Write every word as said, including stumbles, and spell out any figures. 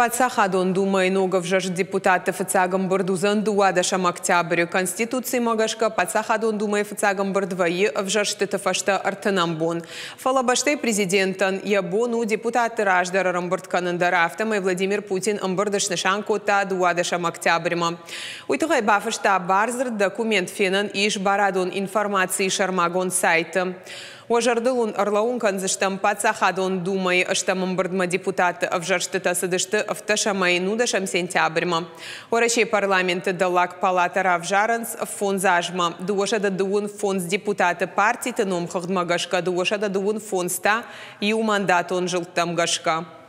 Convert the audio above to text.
Паддзахадон Думӕйы ног ӕвзӕрст депутатты фыццаг ӕмбырд уыдзӕн дыууадӕсӕм октябры. Конституцимӕ гӕсгӕ Паддзахадон Думӕйы фыццаг ӕмбырд вӕййы ӕвзӕрстыты фӕстӕ ӕртынӕм бон. Фӕлӕ бӕстӕйы президентӕн йӕ бон у депутатты раздӕр ӕрӕмбырд кӕнын дӕр. Афтӕмӕй Владимир Путин ӕмбырд снысан кодта дыууадӕсӕм октябрьмӕ. Уый тыххӕй бафыста бардзырд, документ фенӕн ис барадон информацийы сӕрмагонд сайты. Уӕ зӕрдыл уын ӕрлӕууын кӕндзыстӕм, Паддзахадон Думӕйы ӕстӕм ӕмбырдмӕ депутатты ӕвзӕрстытӕ цыдысты ӕвддӕсӕмӕй нудӕсӕм сентябрьмӕ. Уӕрӕсейы парламенты дӕллаг палатӕ равзарынц фондз азмӕ. Дыууӕсӕдӕ дыууын фондз депутаты партиты номхыгъдмӕ гӕсгӕ, дыууӕсӕдӕ дыууын фондз та иумандатон зылдтӕм гӕсгӕ.